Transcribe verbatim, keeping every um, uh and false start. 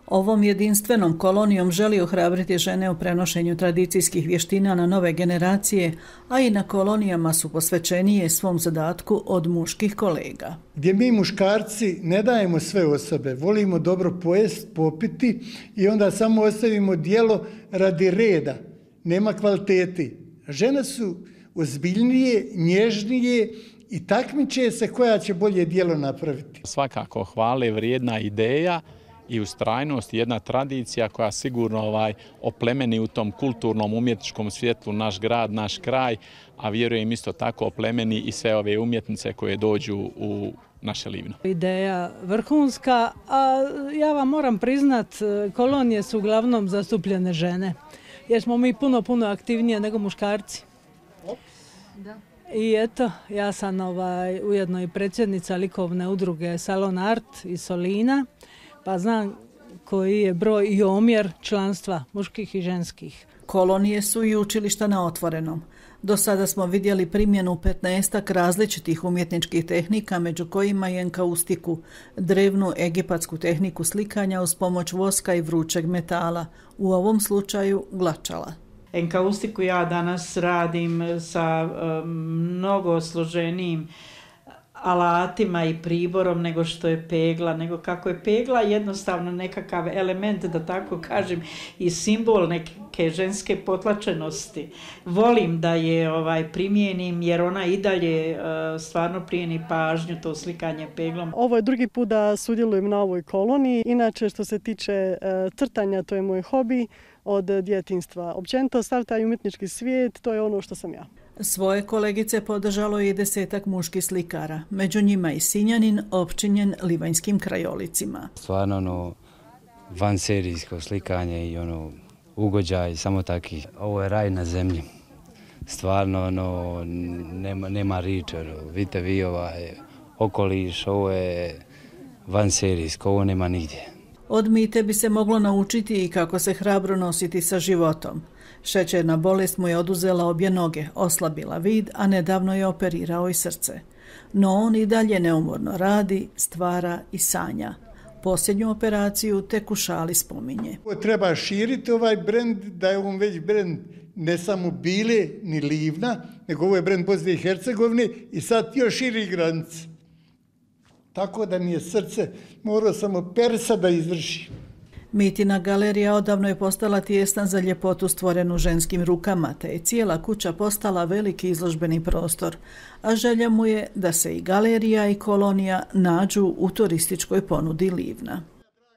Ovom jedinstvenom kolonijom želi ohrabriti žene u prenošenju tradicijskih vještina na nove generacije, a i na kolonijama su posvećenije svom zadatku od muških kolega. Gdje mi muškarci ne dajemo sve osobe, volimo dobro pojest, popiti i onda samo ostavimo djelo radi reda, nema kvaliteti. Žene su ozbiljnije, nježnije i takmiče se koja će bolje djelo napraviti. Svakako hvale vrijedna ideja i ustrajnost, jedna tradicija koja sigurno ovaj, oplemeni u tom kulturnom umjetničkom svjetlu naš grad, naš kraj, a vjerujem isto tako oplemeni i sve ove umjetnice koje dođu u naše Livno. Ideja vrhunska, a ja vam moram priznat, kolonije su uglavnom zastupljene žene, jer smo mi puno, puno aktivnije nego muškarci. Da. I eto, ja sam ovaj, ujedno i predsjednica likovne udruge Salon Art iz Solina, pa znam koji je broj i omjer članstva muških i ženskih. Kolonije su i učilišta na otvorenom. Do sada smo vidjeli primjenu petnaestak različitih umjetničkih tehnika, među kojima i enkaustiku, drevnu egipatsku tehniku slikanja uz pomoć voska i vrućeg metala, u ovom slučaju glačala. Enkaustiku ja danas radim sa mnogo složenijim alatima i priborom nego što je pegla, nego kako je pegla jednostavno nekakav element, da tako kažem, i simbol neke ženske potlačenosti. Volim da je ovaj primijenim jer ona i dalje uh, stvarno prijeni pažnju, to slikanje peglom. Ovo je drugi put da sudjelujem na ovoj koloniji. Inače što se tiče uh, crtanja, to je moj hobi od djetinjstva. Općenito sav taj umjetnički svijet, to je ono što sam ja. Svoje kolegice podržalo je i desetak muških slikara, među njima i Sinjanin opčinjen livanjskim krajolicima. Stvarno ono vanserijsko slikanje i ono ugođaj, samo taki. Ovo je raj na zemlji. Stvarno ono nema, nema riječi. Vidite vi ovaj okoliš, ovo je vanserijsko, ovo nema nigdje. Od Mite bi se moglo naučiti i kako se hrabro nositi sa životom. Šećerna bolest mu je oduzela obje noge, oslabila vid, a nedavno je operirao i srce. No on i dalje neumorno radi, stvara i sanja. Posljednju operaciju tek u šali spominje. Treba širiti ovaj brend, da je on već brend ne samo Bile ni Livna, nego ovo je brend Bosne i Hercegovine i sad još širi granice. Tako da mi je srce morao samo persa da izvrši. Mitina galerija odavno je postala tijesna za ljepotu stvorenu ženskim rukama, te je cijela kuća postala veliki izložbeni prostor, a želja mu je da se i galerija i kolonija nađu u turističkoj ponudi Livna.